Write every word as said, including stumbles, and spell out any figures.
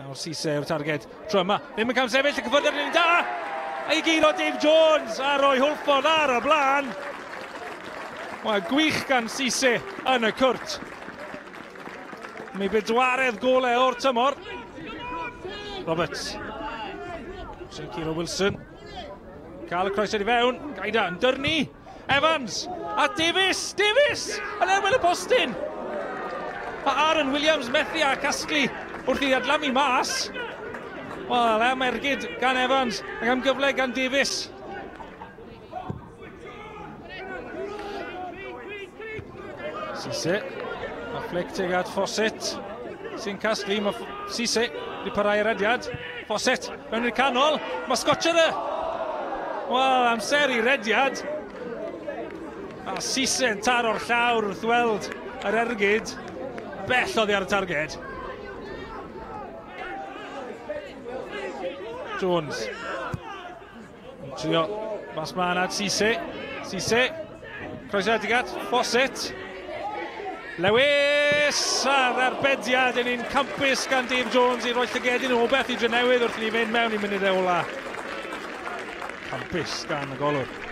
Nawr Cisse yw'r targed tro yma. Ddim yn camsefyll, y cyffwrdd ar un da! A'i guro Dave Jones a roi Hwlffordd ar y blaen. Wel, gwych gan Cisse yn y cwrt. Mi bedwaredd golau o'r tymor. Roberts. Sy'n curo Wilson. Cael y croesiad i fewn. Gaida yn dyrnu. Evans a Davies. Davies! Yn erbyn y postyn. A Aaron Williams methu a casglu wrth i adlamu mas. Wel, am ergyd gan Evans ac am gyfle gan Davies. Cisse. A flic tuag at Fawcett. Sy'n casglu, mae Cisse wedi parhau yr rediad. Fawcett mewn i'r canol. Mae Scotcher. Wel, amser i rediad. A Cisse yn taro'r llawr wrth weld yr ergyd. Bell oddi ar y targed. Jones. Yn trio mas mlaen at Cisse. Cisse. Croesiad tuag at Fawcett. Lewis a'r arbediad yn un campus gan Dave Jones i roi llygedyn o beth i Drenewydd wrth i ni fynd mewn i munudau ola. Campus gan y golwr.